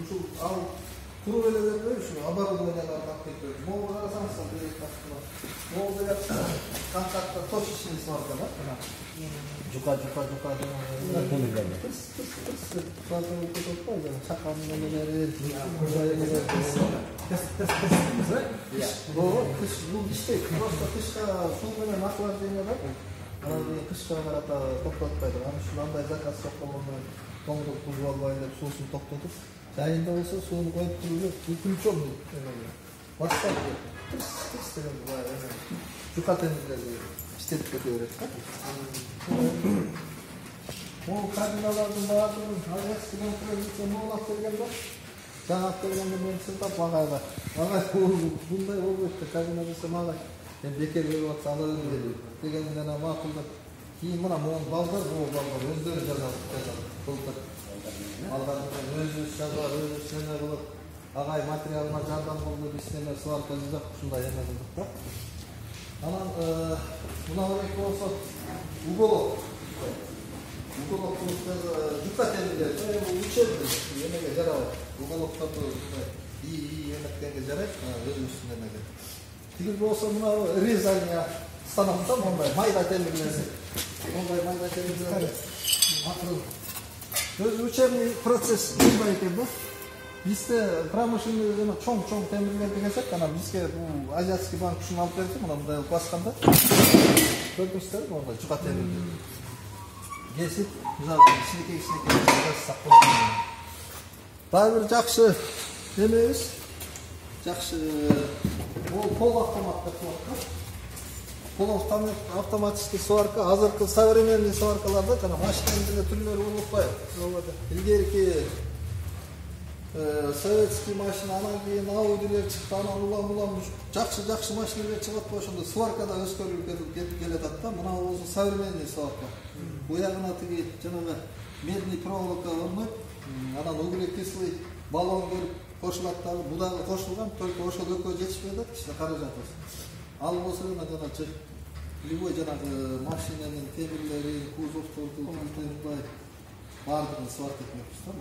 ушул ал туруп эле бербей ушу оборудованияларды алып келип берет. Могу карасаңыз берет астына. Могу берет контактта точечный сварка да. Жука демилерди. Сварканы кетип койду. Чакан менен кыш бул иштейт. Просто кышка суу менен охлаждение бар. Анан кышка карата токтотпойт. Анан ушул андай заказ токтогондон тоңдук бузуп албай деп суусун токтотуп, жайында болсо сууну коюп туруп включен баштап тырс деген жука темирлерди иштетип кете берет да. Могу кабиналардын баардыгын авиациядан провинция могулап берген да. Жаңы алып келгенде мен сылтап агайга. Агай мындай болбойт да, кабина болсо мага бекер берип атса ала берди дегенден макулдап. Кийин мына могу балдар өздөрү жазат. Былтыр алгандан өзүбүз жазып, өзүбүз неме кылып, агай материалына жардам кылды, биз неме сварка жасап ушундай эме кылдык да. Анан мына болсо уголок жука темирлер, учебный эмеге жарабайт. Уголоктарды эметкенге жарайт, өзүбүздүн эмеге. Тиги болсо мына резание станокто мондай майда темирлерди. Мондай майда темирлерди. Өзү учебный процесс мындай экен да. Бизде промышленный жана чоң темирлерди кесек, анан бизге бул Азиатский банк ушуну алып берди, мына мындай басканда. Көрдүңүздөр, мондай жука темирлер. Кесип, мисалы кичинекей жасап койгон. Дагы бир жакшы эмебиз. Жакшы полуавтомат деп коет. Полуавтоматический сварка, азыркы современный сваркаларда жана машинанын түрлөрү болуп атпайбы. Илгерки советский машина, анан кийин Audilер чыкты, анан улам жакшы машиналар чыгып атпайбы, ошондо сваркада өскөрүлүп кетип келатат да. Мына болсо современный сварка. Буягына тиги жанагы медный проволока орнойт, анан углекислый баллон келип кошулат дагы, бу дагы кошулган, только ошол экөө жетишпей атат, ичинде каражат. Ал болсо жанагы любой жанагы машинанын темирлери, кузовдорду баардыгын сварка этмекпиз да.